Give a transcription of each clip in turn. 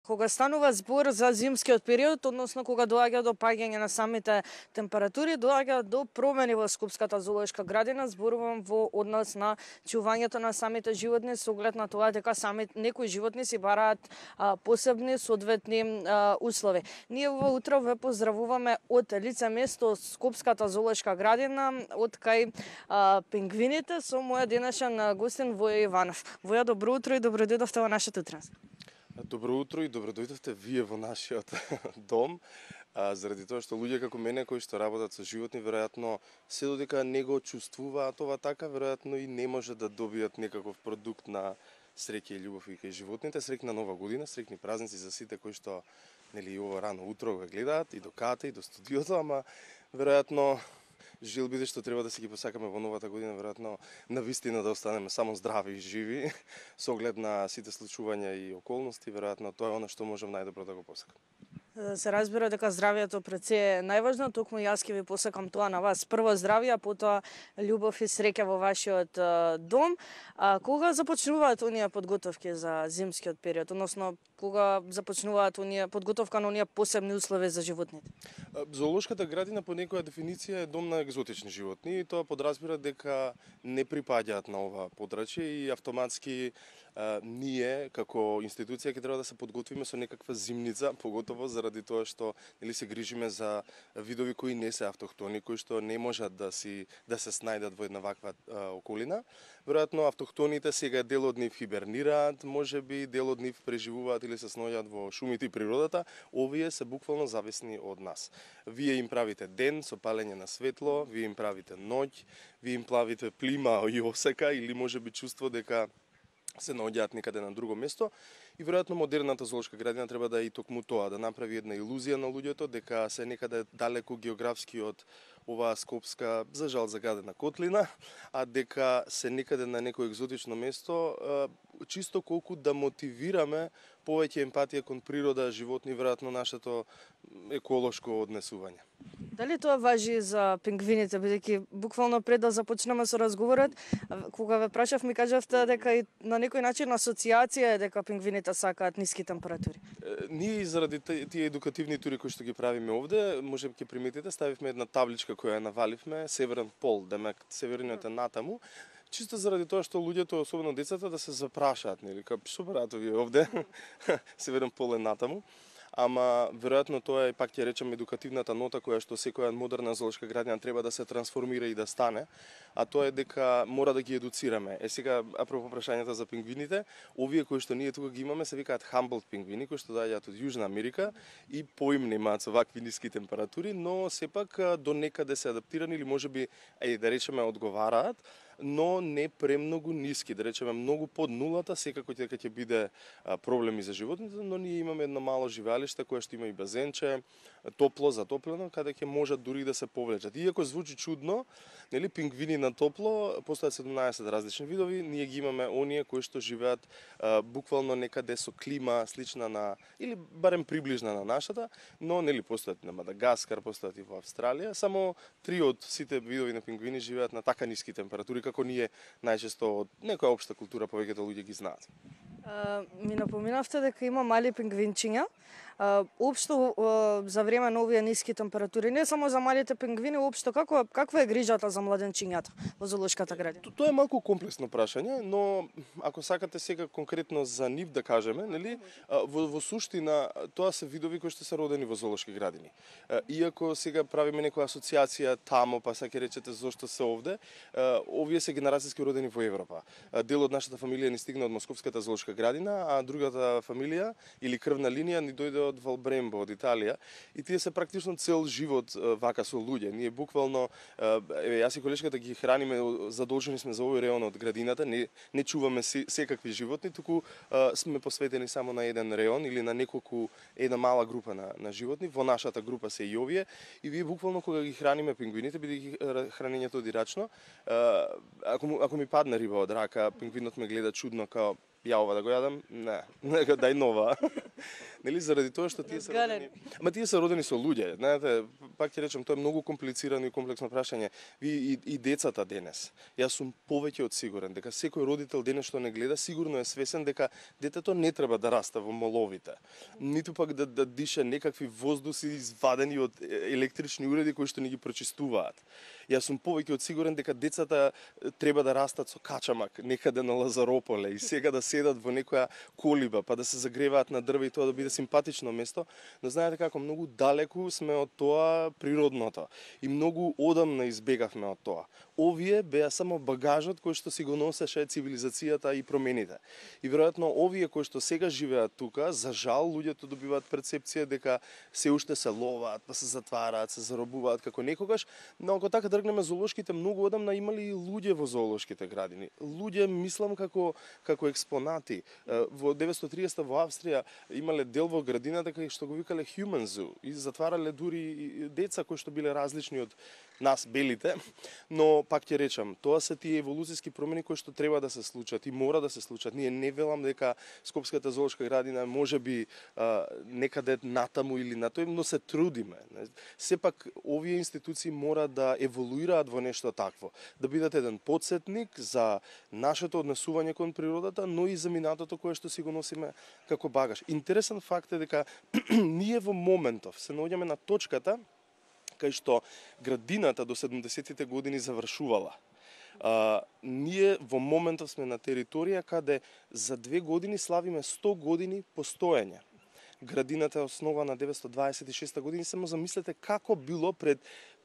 Кога станува збор за зимскиот период, односно кога доаѓа до паѓање на самите температури, доаѓа до промени во Скопската зоолошка градина, зборувам во однос на чувањето на самите животни со оглед на тоа дека некои животни си бараат посебни соодветни услови. Ние во утро ве поздравуваме од лице место Скопската зоолошка градина, од кај пингвините со моја денешен гостин Воја Иванов. Воја, добро утро и добро дојдовте во нашето утро. Добро утро и добро дојдовте вие во нашиот дом. Заради тоа што луѓе како мене кои што работат со животни, веројатно се додека не го чувствуваат това така, веројатно и не може да добијат некаков продукт на среќа и љубов и кај животните. Среќна нова година, среќни празници за сите кои што нели ова рано утро го гледаат и до ката и до студиото, ама веројатно желбите што треба да си ги посакаме во новата година, веројатно навистина да останеме само здрави и живи, со оглед на сите случувања и околности, веројатно тоа е она што можам најдобро да го посакам. Се разбира дека здравието пред се е најважно, токму јас ќе ви посакам тоа на вас. Прво здравје, а потоа љубов и среќа во вашиот дом. Кога започнуваат оние подготовки за зимскиот период, односно кога започнуваат оние подготовка на оние посебни услови за животните? Зоолошката градина по некоја дефиниција е дом на екзотични животни и тоа подразбира дека не припаѓаат на ова подрачје и автоматски ние како институција ќе треба да се подготвиме со некаква зимница, поготово заради тоа што нели се грижиме за видови кои не се автохтони, кои што не можат да се снајдат во една ваква околина. Веројатно автохтоните сега дел од нив хибернираат, можеби дел од нив преживуваат или се сноѓаат во шумите и природата. Овие се буквално зависни од нас. Вие им правите ден со палење на светло, вие им правите ноќ, вие им правите плима и осека или можеби чувство дека се наоѓаат некаде на друго место и веројатно модерната зоолошка градина треба да и токму тоа, да направи една илузија на луѓето дека се некаде далеку географски од оваа скопска, за жал загадена котлина, а дека се некаде на некој екзотично место, чисто колку да мотивираме повеќе емпатија кон природа, животни, веројатно нашето еколошко однесување. Дали тоа важи за пингвините, бидејќи буквално пред да започнеме со разговорот, кога ве прашав ми кажавте дека и на некој начин асоциација е дека пингвините сакаат ниски температури. Ние заради тие едукативни тури кои што ги правиме овде, може ќе приметите, ставивме една табличка која ја наваливме, Северен пол, демек северниот е натаму, чисто заради тоа што луѓето, особено децата, да се запрашаат, нели, што прават овие овде, Северен пол е натаму. Ама веројатно тоа е, пак ќе речем, едукативната нота која што секоја модерна зоолошка градина треба да се трансформира и да стане, а тоа е дека мора да ги едуцираме. Сега, апропо прашањата за пингвините, овие кои што ние тука ги имаме се викаат Humboldt пингвини, кои што доаѓаат од Јужна Америка и поимни имаат со вакви ниски температури, но сепак до некаде се адаптирани или можеби, да речеме, одговараат, но не премногу ниски, да речеме многу под нулата, секако дека ќе биде проблеми за животните, но ние имаме едно мало живеалиште кое што има и базенче, топло, затоплено, каде ќе можат дури да се повлечат. Иако звучи чудно, нели, пингвини на топло, постојат 17 различни видови, ние ги имаме оние кои што живеат буквално некаде со клима слична на или барем приближна на нашата, но нели постојат на Мадагаскар, постојат и во Австралија, само 3 од сите видови на пингвини живеат на така ниски температури како ние најчесто од некоја општа култура повеќето луѓе ги знаат. Ми напоминавте дека има мали пингвинчиња. Општо за време на овие ниски температури, не само за малите пингвини, општо каква е грижата за младенчињата во зоолошката градина? Тоа е малку комплексно прашање, но ако сакате сега конкретно за нив да кажеме, нели, во суштина тоа се видови кои што се родени во зоолошки градини. Иако сега правиме некоја асоциација тамо, па сега ќе речете зошто се овде, овие се генерацијски родени во Европа. Дел од нашата фамилија ни стигна од Московската зоолошка градина, а другата фамилија или крвна линија ни дојде од Валбрембо, од Италија, и тие се практично цел живот вака со луѓе. Ние буквално, јас и колешката ги храниме, задолжени сме за овој реон од градината, не чуваме секакви животни, туку сме посветени само на еден реон или на една мала група на животни. Во нашата група се и овие, и вие буквално кога ги храниме пингвините, бидејќи хранењето дирачно, ако ми падне риба од рака, пингвинот ме гледа чудно, као ја ова да го јадам, не, нека дај нова. Нели заради тоа што тие се родени. Ама тие се родени со луѓе, знаете, пак ќе речем, тоа е многу комплицирано и комплексно прашање. Ви и децата денес. Јас сум повеќе од сигурен дека секој родител денес што не гледа сигурно е свесен дека детето не треба да расте во моловите. Ниту пак да дише некакви воздуси извадени од електрични уреди кои што ни ги прочистуваат. Јас сум повеќе од сигурен дека децата треба да растат со качамак некаде на Лазарополе и сега да седат во некоја колиба па да се загреваат на дрве и тоа да биде симпатично место, но знаете како многу далеку сме од тоа природното и многу одамна избегавме од тоа. Овие беа само багажот кој што си го носеше цивилизацијата и промените. И веројатно овие кои што сега живеат тука, за жал луѓето добиваат перцепција дека се уште се ловат, па се затвараат, се заробуваат како некогаш, но ако така тргнеме зоолошките, многу одамна имали и луѓе во зоолошките градини. Луѓе мислам како експонати. Во 930 во Австрија имале дел во градината кај што го викале Human Zoo и затварале дури и деца кои што биле различни од нас белите, но пак ќе речам, тоа се тие еволуцијски промени кои што треба да се случат и мора да се случат. Ние не велам дека Скопската зоолошка градина можеби некаде натаму или на тој, но се трудиме. Сепак овие институции мора да еволуираат во нешто такво, да бидат еден потсетник за нашето однесување кон природата, но и за минатото кое што си го носиме како багаж. Интересен факт е дека ние во моментов се наоѓаме на точката кај што градината до 70-тите години завршувала. Ние во моментов сме на територија каде за 2 години славиме 100 години постоење. Градината е основана 926 години, само замислете како било пред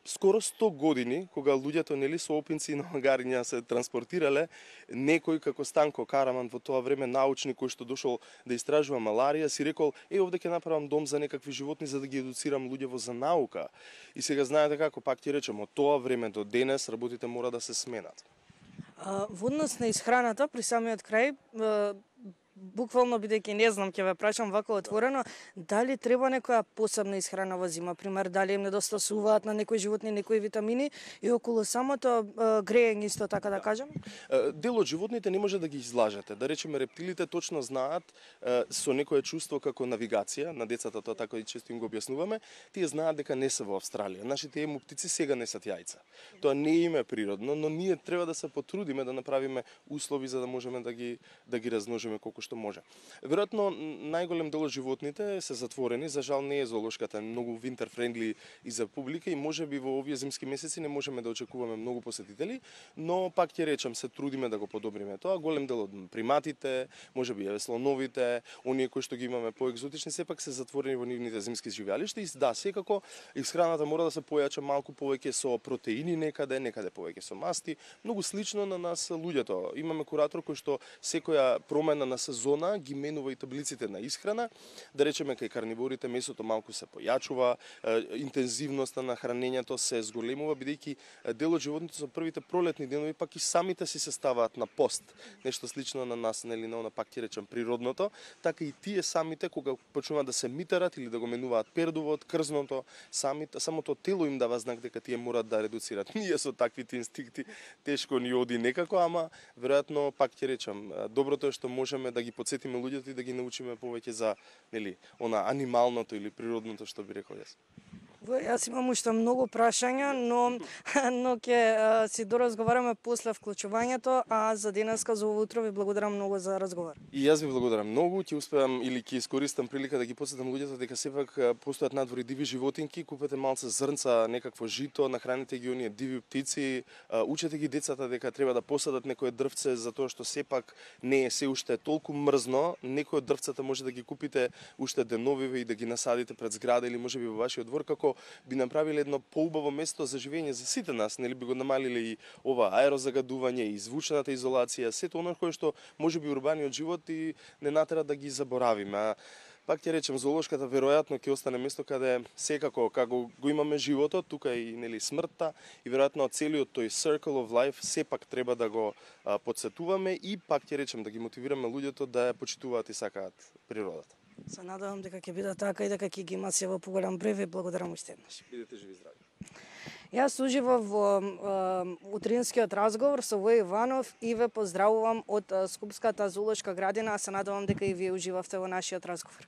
скоро 100 години, кога луѓето нели со опинци и нагариња се транспортирале, некој како Станко Караман во тоа време научник кој што дошол да истражува маларија, си рекол: овде ќе направам дом за некакви животни за да ги едуцирам луѓево за наука. И сега знаете како, пак ќе речем, од тоа време до денес работите мора да се сменат. Во однос на исхраната при самиот крај, буквално бидејќи не знам, ќе ве прашам вака отворено, дали треба некоја посебна исхрана во зима, пример дали им недостасуваат на некои животни некои витамини и околу самото грејење исто така да кажем? Дел од животните не може да ги излажете. Да речеме рептилите точно знаат со некое чувство како навигација, на децата тоа така и често им го објаснуваме, тие знаат дека не се во Австралија. Нашите емуптици сега несат јајца. Тоа не им е природно, но ние треба да се потрудиме да направиме услови за да можеме да ги размножиме колку што може. Веројатно најголем дел од животните се затворени, за жал не е зоолошката многу winter friendly и за публика и можеби во овие зимски месеци не можеме да очекуваме многу посетители, но пак ќе речам се трудиме да го подобриме тоа. Голем дел од приматите, можеби слоновите, оние кои што ги имаме поекзотични, сепак се затворени во нивните зимски живеалишта и да, секако исхраната мора да се појача малку повеќе со протеини некаде повеќе со масти, многу слично на нас луѓето. Имаме куратор кој што секоја промена на сезона ги менува и таблиците на исхрана. Да речеме кај карниворите месото малку се појачува, интензивноста на хранењето се зголемува бидејќи дел од животните со првите пролетни денови пак и самите си се ставаат на пост. Нешто слично на нас, нели на она пак ќе речем природното, така и тие самите кога почнуваат да се митарат или да го менуваат пердувот, крзното, самото тело им дава знак дека тие морат да редуцират. Ние со таквите инстинкти тешко ни оди некако, ама веројатно пак ќе речем доброто е што можеме да ги подсетиме луѓето и да ги научиме повеќе за нели она анималното или природното што би рекол јас. Јас имам уште многу прашања, но ќе си доразговараме после вклучувањето, а за денеска за ово утро ви благодарам многу за разговор. И јас ви благодарам многу, ќе успеам или ќе искористам прилика да ги потсетам луѓето дека сепак постојат надвори диви животинки, купете малце зрнца, некакво жито, нахраните ги оние диви птици, учете ги децата дека треба да посадат некое дрвце затоа што сепак не е се уште толку мрзно, некој од дрвцата може да ги купите уште деновиве и да ги насадите пред зграда или можеби во вашиот двор како би направиле едно поубаво место за живење за сите нас, нели би го намалиле и ова аерозагадување и звучната изолација, сето оно кое што можеби урбаниот живот и не натера да ги заборавиме. Пак ќе речем, зоолошката веројатно ќе остане место каде секако како го имаме животот, тука и нели смртта и веројатно целиот тој circle of life сепак треба да го потсетуваме и пак ќе речем да ги мотивираме луѓето да ја почитуваат и сакаат природата. Се надевам дека ќе биде така и дека ќе ги има се во поголем број. Ви благодарам уште еднаш. Бидете живи и здрави. Јас уживав во утринскиот разговор со Вој Иванов и ве поздравувам од Скупската зоолошка градина, а се надевам дека и вие уживавте во нашиот разговор.